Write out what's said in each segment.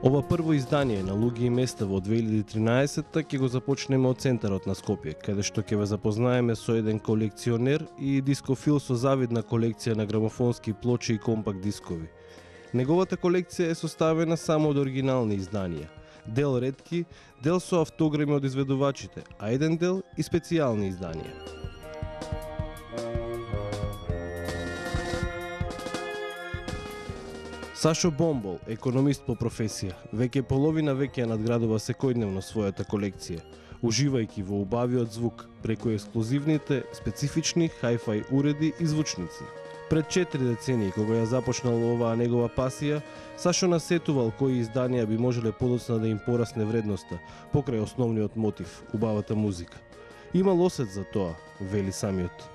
Ова прво издание на Луѓе и места во 2013-та ќе го започнеме од центарот на Скопје, каде што ќе ве запознаеме со еден колекционер и дискофил со завидна колекција на грамофонски плочи и компакт дискови. Неговата колекција е составена само од оригинални изданија, дел ретки, дел со автограми од изведувачите, а еден дел и специјални изданија. Сашо Бомбол, економист по професија, веќе половина веќе надградува секојдневно својата колекција, уживајќи во убавиот звук преку ексклузивните, специфични hi-fi уреди и звучници. Пред 4 децении, кога ја започнал оваа негова пасија, Сашо насетувал кои изданија би можеле подоцна да им порасне вредноста, покрај основниот мотив, убавата музика. Имал осет за тоа, вели самиот.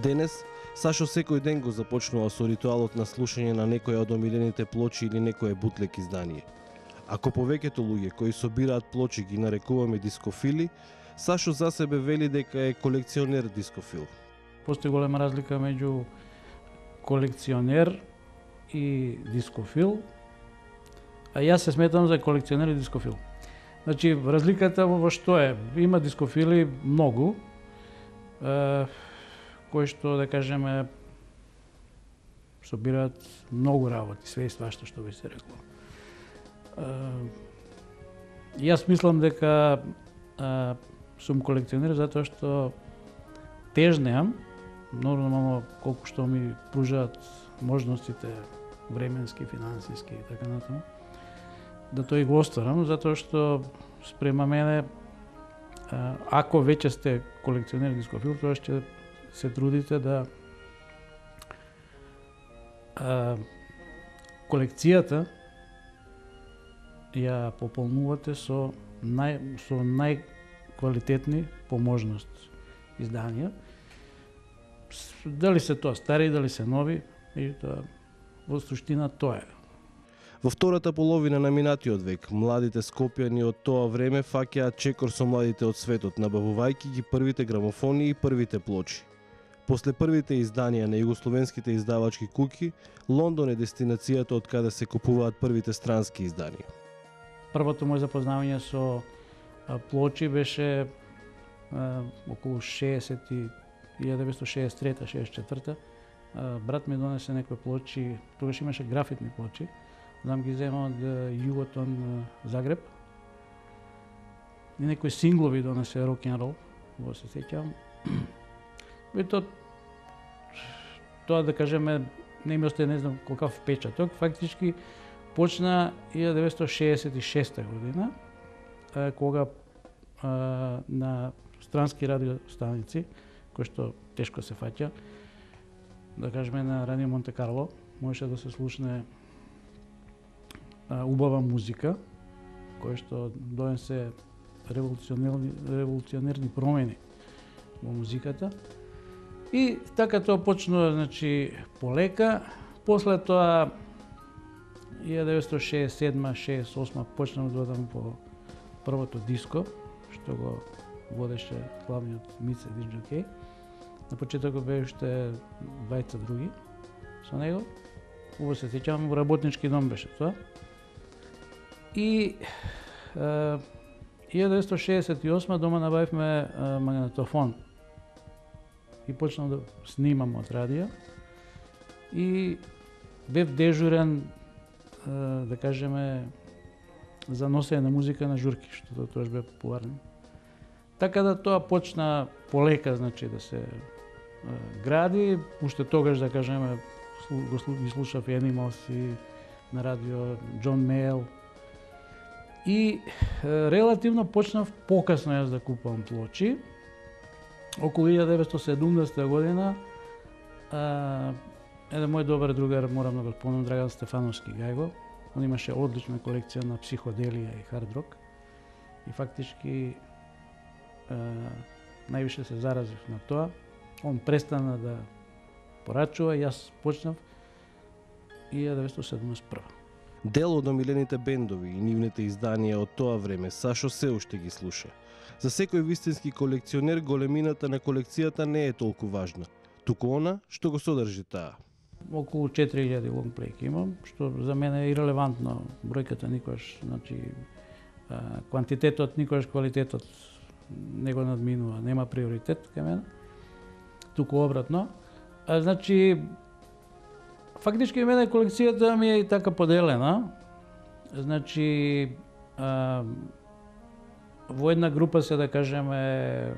Денес, Сашо секој ден го започнува со ритуалот на слушање на некоја од омилените плочи или некое бутлек издание. Ако повеќето луѓе кои собираат плочи ги нарекуваме дискофили, Сашо за себе вели дека е колекционер дискофил. Постои голема разлика меѓу колекционер и дискофил, а јас се сметам за колекционер и дискофил. Значи, разликата во што е? Има дискофили многу, кои што, да кажеме, собираат многу работи, све и свашто што би се рекло. Јас мислам дека сум колекционер затоа што тежнеам, нормално колку што ми пружаат можностите временски, финансиски и така натаму, да тој го остварам, затоа што спрема мене, ако веќе сте колекционер дискофил, тоа ќе се трудите да колекцијата ја пополнувате со најквалитетни по можност изданија. Дали се тоа стари, дали се нови, и тоа во суштина тоа е. Во втората половина на минатиот век, младите скопјани од тоа време фаќаат чекор со младите од светот, набавувајќи ги првите грамофони и првите плочи. После првите изданија на југословенските издавачки куќи, Лондон е дестинацијата од каде се купуваат првите странски изданија. Првото моје запознавање со плочи беше околу 1963-64. Брат ми донесе некои плочи, тогаш имаше графитни плочи, знам ги зема од Југотон Загреб. И некои синглови донесе рок-н-рол, во се сеќавам. И тоа да кажеме не ми остае не знам колкав впечаток. Фактички почна 1966 година, кога на странски радиостаници, кои што тешко се фаќа, да кажеме на Радио Монте Карло, можеше да се слушне убава музика, која што донесе револуционерни промени во музиката. И така тоа почнува, значи, полека. После тоа 1967-68 почнав да одам по првото диско, што го водеше главниот Мице Диджокей. На почетокот беа уште двајца други со него. Убаво се сеќавам, во работнички дом беше тоа. И 1968 дома набавивме магнетофон. И почнав да снимам од радио. И бев дежурен, да кажеме, за носење на музика на журки, што тоа бе популарно. Така да тоа почна полека, значи, да се гради. Уште тогаш, да кажеме, ги слушав Animals и на радио Джон Мейл, И релативно почнав покасно јас да купувам плочи. Околу 1970 година еден мој добар другар, морам да го спомнам, Драган Стефановски Гајго, он имаше одлична колекција на психоделија и хард рок. И фактички највише се заразив на тоа. Он престана да порачува, јас почнав 1971. Дел од омилените бендови и нивните изданија од тоа време Сашо се уште ги слуша. За секој вистински колекционер големината на колекцијата не е толку важна, туку она што го содржи таа. Околу 4000 лонгплейки имам, што за мене е ирелевантно. Бројката никогаш, значи квантитетот никогаш квалитетот не го надминува, нема приоритет кај мене. Туку обратно. Значи фактички мене колекцијата ми е така поделена. Значи во една група се, да кажеме,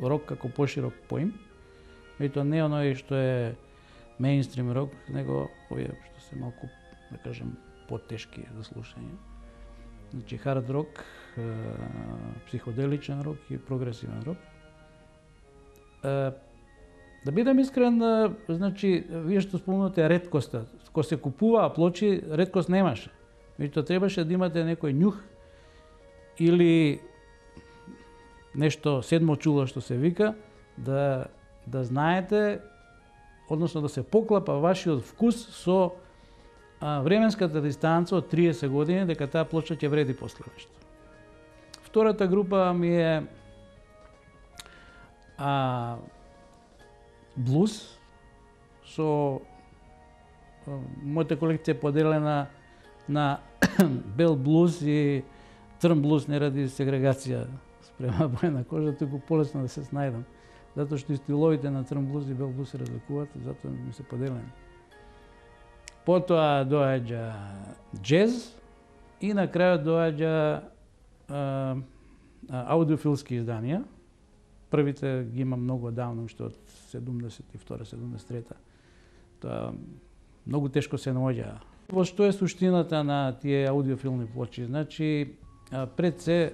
рок како поширок поим. И тоа не е оној што е меинстрим рок, него овие што се малку, да кажем, потешки за слушање. Значи хард рок, психоделичен рок и прогресивен рок. Да бидам искрен, значи, вие што спомнате реткоста, кога се купуваа плочи, реткост немаше. Меѓутоа требаше да имате некој њух или нешто седмо чуло што се вика, да знаете, односно да се поклапа вашиот вкус со временската дистанца од 30 години, дека таа плоча ќе вреди после нешто. Втората група ми е блуз, со мојата колекција поделена на бел блуз и црн блуз, не ради сегрегација спрема боја на кожа, туку полесно да се снајдам. Затоа што и стиловите на црн блуз и бел блуз се разликуваат, затоа ми се поделени. Потоа доаѓа джез и на крајот доаѓа аудиофилски изданија. Првите ги имам многу давно, уште од 72-73. Тоа многу тешко се наоѓа. Во што е суштината на тие аудиофилни плочи? Значи, пред се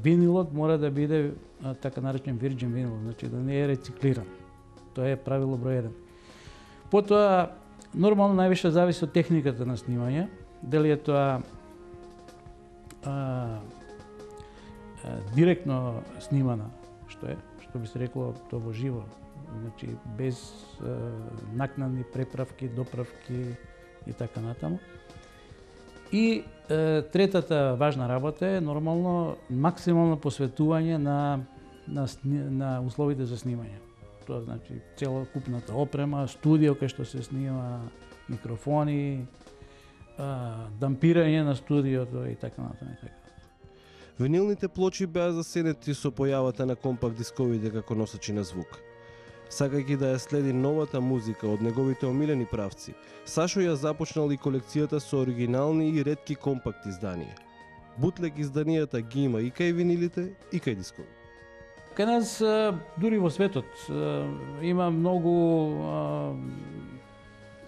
винилот мора да биде така наречен virgin винил, значи да не е рециклиран. Тоа е правило број 1. Потоа нормално највише зависи од техниката на снимање, дали е тоа директно снимана, што би се рекло тоа во живо, значи без накнадни преправки, доправки и така натаму. И третата важна работа е нормално максимално посветување на условите за снимање. Тоа значи целокупната опрема, студио кај што се снима, микрофони, дампирање на студиото и така натаму. Винилните плочи беа засенети со појавата на компакт дисковите како носачи на звук. Сакајќи да ја следи новата музика од неговите омилени правци, Сашо ја започнал и колекцијата со оригинални и ретки компакт изданија. Бутлег изданијата ги има и кај винилите, и кај дискови. Кај нас, дури во светот, има многу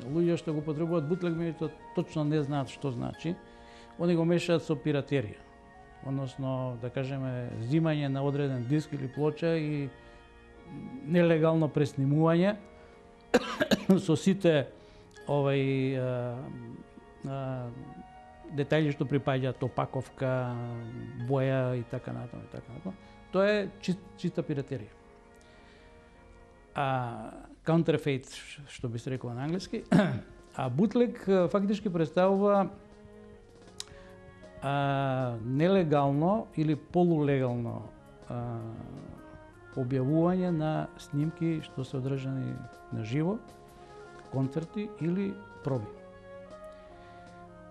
луѓе што го потребуваат бутлег, меѓутоа точно не знаат што значи. Они го мешаат со пиратерија. Односно, да кажеме, зимање на одреден диск или плоча и нелегално преснимување со сите детајли што припаѓаат, опаковка, боја и така натаму. Тоа е чиста пиратерија. Counterfeit, што би се рекло на англиски, а бутлег фактички представува нелегално или полулегално објавување на снимки што се одржани на живо, концерти или проби.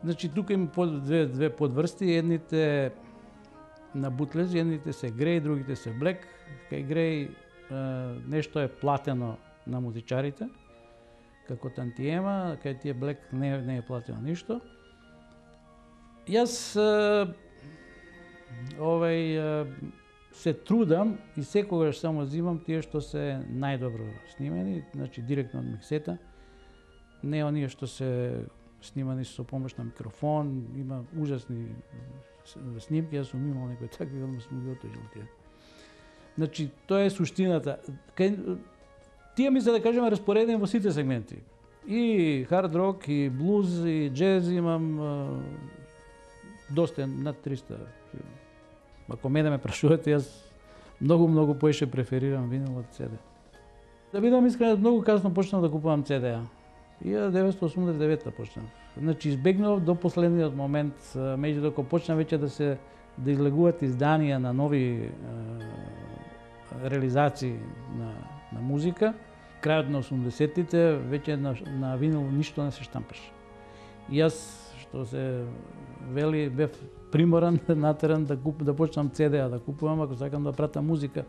Значи, тука има две подврсти, едните на бутлези, едните се греј, другите се блек. Кај греј нешто е платено на музичарите, како тантиема, кај тие блек не е платено ништо. Јас се трудам и секогаш само зимам тие што се најдобро снимени, значи директно од миксета. Не оние што се снимани со помош на микрофон, има ужасни снимки, јас сум имал некои такви, одма сум ги отложил тие. Значи, тоа е суштината. Тие мисля да кажеме распоредени во сите сегменти. И хард рок, и блуз, и джез имам доста, над 300. Ако мене ме прашувате, јас многу поише преферирам винил од CD. Да бидам искрен, многу касно почнав да купувам CD-а. 1989 почнав. Значи, избегнав до последниот момент, меѓутоа почна веќе да излегуваат изданија на нови реализации на музика. Крајот на 80-тите веќе на винил ништо не се штампаше. И јас, што се вели, бев приморан, натеран да почнам CD-а да купувам ако сакам да пратам музика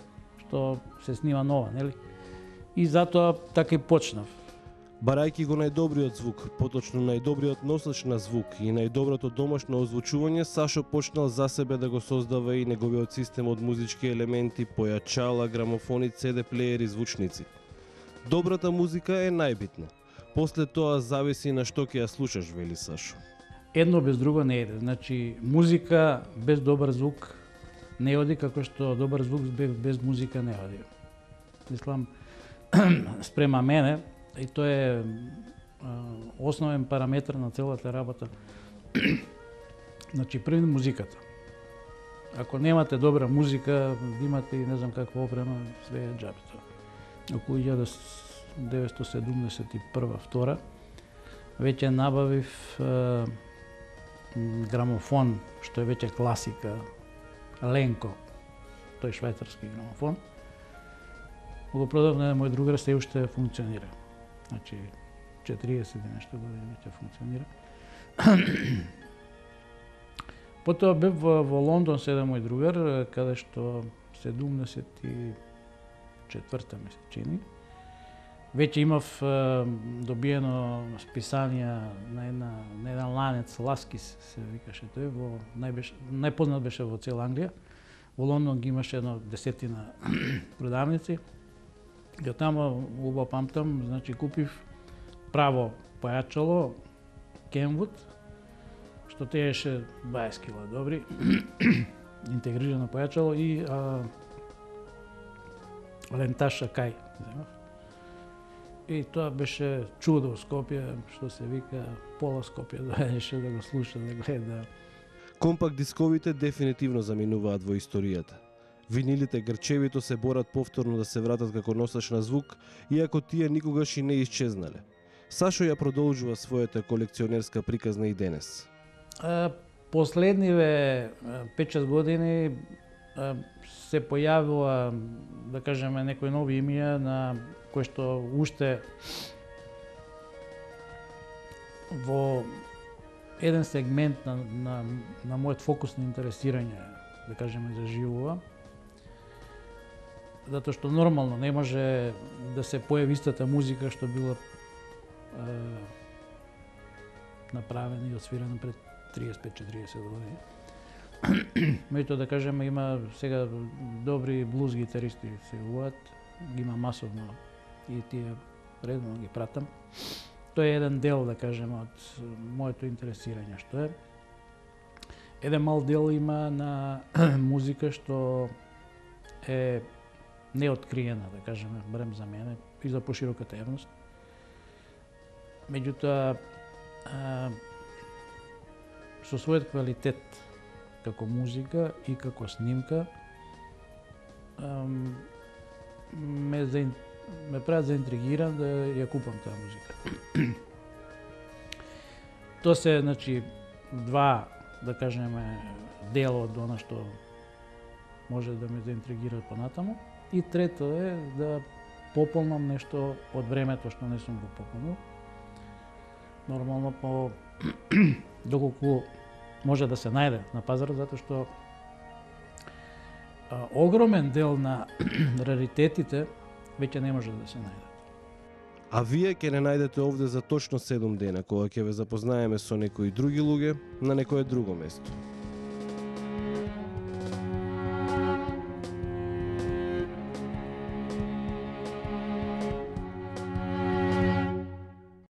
што се снима нова, нели? И затоа така и почнав. Барајќи го најдобриот звук, поточно најдобриот носач на звук и најдоброто домашно озвучување, Сашо почнал за себе да го создава и неговиот систем од музички елементи, појачала, грамофони, CD плеери, звучници. Добрата музика е најбитна. После тоа зависи на што ќе ја слушаш, вели Сашо. Едно без друго не иде. Значи, музика без добар звук не оди, како што добар звук без музика не оди. Мислам, спрема мене, и тоа е основен параметр на целата работа. Значи, први музиката. Ако немате добра музика, имате и не знам каква опрема, све е џабето. Околу 1971-2 веќе набавив грамофон, што е веќе класика, Ленко, тој швајцарски грамофон. Го продав на мој другар, се уште функционира. Значи, 40 и нешто години веќе функционира. Потоа бев во Лондон со еден мој другар, каде што 74-та ми се чини. Веќе имав добиено списанија на еден ланец, Ласкис се викаше тој, најпознат беше во цела Англија. Во Лондон ги имаше едно 10-тина продавници. И таму убаво памтам, значи купив право појачало Kenwood, што тееше 20 кила добри, интегрирано појачало и ленташ Акај. И тоа беше чудо во Скопје, што се вика, пола Скопје доаѓаше да го слуша, да гледа. Компакт дисковите дефинитивно заминуваат во историјата. Винилите грчевито се борат повторно да се вратат како носач на звук, иако тие никогаш и не исчезнале. Сашо ја продолжува својата колекционерска приказна и денес. Последниве 5-6 години се појавила, да кажеме, некои нови имија на кои што уште во еден сегмент на мојот фокус на интересирање, да кажеме, заживува. Затоа што нормално не може да се појави истата музика што била направена и освирена пред 35-40 години. Меѓутоа, да кажеме, има сега добри блуз гитаристи се јавуваат, ги има масовно и тие редовно ги пратам. Тоа е еден дел, да кажеме, од моето интересирање што е. Еден мал дел има на музика што е неоткриена, да кажеме, барем за мене и за пошироката јавност. Меѓутоа, со својот квалитет како музика и како снимка ме прават заинтригиран да ја купам таа музика. Тоа се, значи, два, да кажеме, дела од она што може да ме заинтригира понатаму. И трето е да пополнам нешто од времето што не сум го пополнил. Нормално по доколку може да се најде на пазарот, затоа што огромен дел на раритетите веќе не може да се најдат. А вие ќе не најдете овде за точно 7 дена, кога ќе ве запознаеме со некои други луѓе на некое друго место.